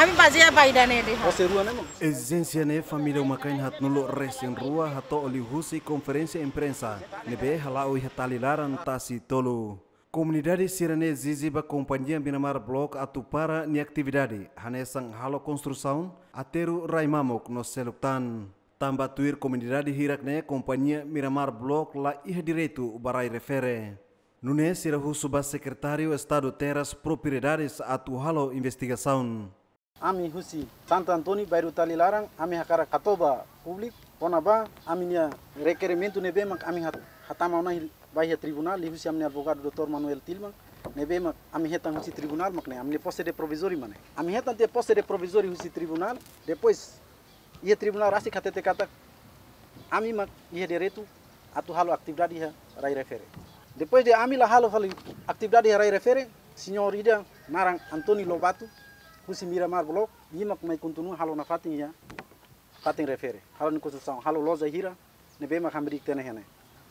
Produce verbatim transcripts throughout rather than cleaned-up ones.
Ami bazeia ba ida-ne'e de'it. Ezijénsia ne'e família uma-kain haatnulu resin rua hato'o liuhusi konferénsia imprensa ne'ebé hala'o iha Talilaran, Tasi Tolu. Komunidade sira-ne'e ezije ba kompañia Miramar Block atu para nia atividade, hanesan halo konstrusaun, aterru rai mamuk no seluk tan. Tanba tuir komunidade hirak-ne'e kompañia Miramar Block la iha direitu ba rai refere. Nune'e sira husu ba Sekretáriu Estadu Terras Propriedades atu halo investigasaun. Ami husi Santo António, bairru Talilaran, ami hakarak hato'o ba públiku kona-ba ami-nia rekerimentu ne'ebé mak ami hat-, hatama ona ba iha tribunál, liuhusi ami-nia advogadu doutór Manuel Tilman, ne'ebé mak ami hetan husi tribunál mak ne'e, ami-nia posse de provizóriu mak ne'e. Ami hetan tiha posse de provizóriu husi tribunál, depois iha tribunál rasik hatete katak ami mak iha direitu atu halo atividade iha rai refere. Depois de ami la halo fali atividade iha rai refere, señór ida naran António Lobato, husi Miramar Block, nia mak mai kontinua halo nafatin iha fatin refere, halo nia konstrusaun, halo loja hira ne'ebé mak hamriik tiha ona iha ne'e.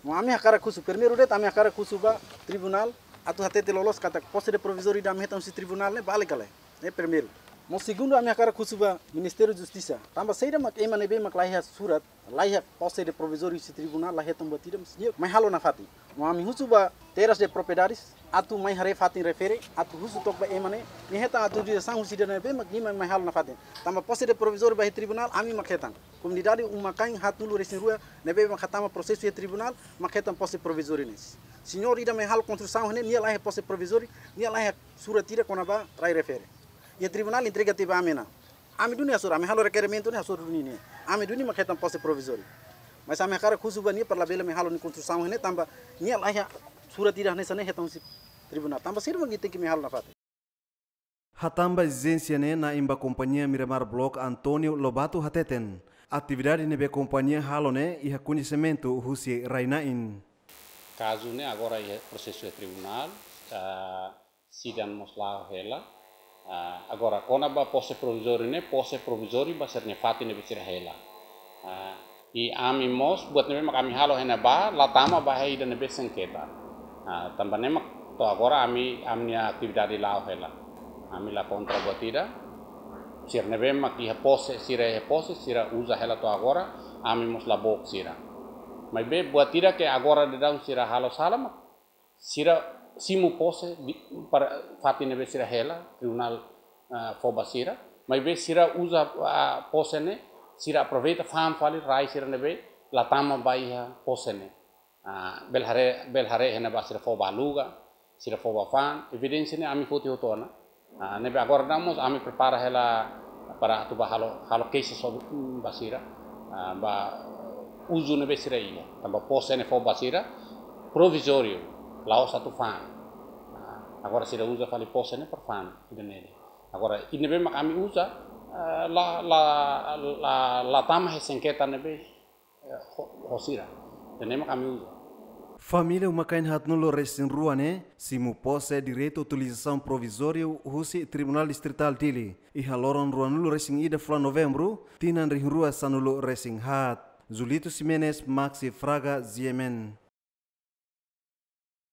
No ami hakarak husu, primeiru de'it ami hakarak husu ba tribunál atu hatete loloos katak posse de provizóriu ida ami hetan husi tribunál ne'e bele ka lae. Ne'e primeiru. No segundu ami hakarak husu ba Ministériu Justisa. Tanba saida mak ema ne'ebé mak la iha surat, la iha posse de provizóriu husi tribunál la hetan buat ida, mas nia mai halo nafatin. No ami husu ba Terras de Propriedades atu mai haree fatin refere, atu husu took ba ema ne'e, nia hetan autorizasaun husi ida ne'ebé mak nia mai, mai halo nafatin. Tanba posse de provizóriu ba iha tribunál ami mak hetan. Komunidade uma-kain haatnulu resin rua ne'ebé mak hatama prosesu iha tribunál mak hetan posse provizóriu ne'e. Señór ida mai halo konstrusaun ne'e, nia la iha posse provizóriu, nia la iha surat ida kona-ba rai refere. Iha tribunál entrega tiha ba ami ona. Ami duni hasoru, ami halo rekerimentu ne'e hasoru duni nia. Ami duni mak hetan posse provizóriu. Mas ami hakarak husu ba nia para labele mai halo nia konstrusaun ne'e tanba nia la iha surat ida hanesan ne'e hetan husi tribunál. Tanba saida mak nia tenke mai halo nafatin. Hatán ba ezijénsia ne'e, na'in ba kompañia Miramar Block, António Lobato hateten, atividade ne'ebé kompañia halo ne'e iha koñesimentu husi rai-na'in. Kazu ne'e agora iha prosesu iha tribunál, ah, sidang mós la'o hela. Ah, agora kona-ba posse provizóriu ne'e, posse provizóriu ba sira-nia fatin ne'ebé sira hela. Ah, i ami mós, buat ne'ebé mak ami halo iha ne'ebá, la tama ba iha ida ne'ebé sengketa. Ah, tanba ne'e mak to'o agora ami, ami-nia atividade la'o hela. Ami la kontra buat ida. Sira ne'ebé mak iha posse, sira iha posse, sira uza hela to'o agora, ami mós la book sira. Maibé buat ida ke agora daudaun sira halo sala mak sira simu posse di, para fatin ne'ebé sira hela, tribunál, ah, fó ba sira. Maibé sira uza, ah, posse ne'e, sira aproveita fa'an fali rai sira ne'ebé la tama ba iha posse ne'e. Ah, bele haree, bele haree iha ne'ebá sira fó ba aluga, sira fó ba fa'an, evidénsia ne'e ami foti hotu ona. Ah, ne'ebé agora daudaun mós ami prepara hela para atu ba halo, halo keixa sobre, mm, ba sira, ah, ba uzu ne'ebé sira iha. Tanba posse ne'e fó ba sira provizóriu, la'ós atu fa'an. Ah, agora sira uza fali posse ne'e para fa'an, ida-ne'e. Agora, ida ne'ebé mak ami uza, ah, la, la, la, la tama iha sengketa ne'ebé eh, ho, ho sira. Ida-ne'e mak ami uza. Família uma-kain haatnulu resin rua ne'e simu posse direitu utilizasaun provizóriu husi Tribunál Distritál Dili iha loron ruanulu resin ida fulan Novembru, tinan rihun rua sanulu resin haat. Julito Ximenes, Maxi Fraga, G M N.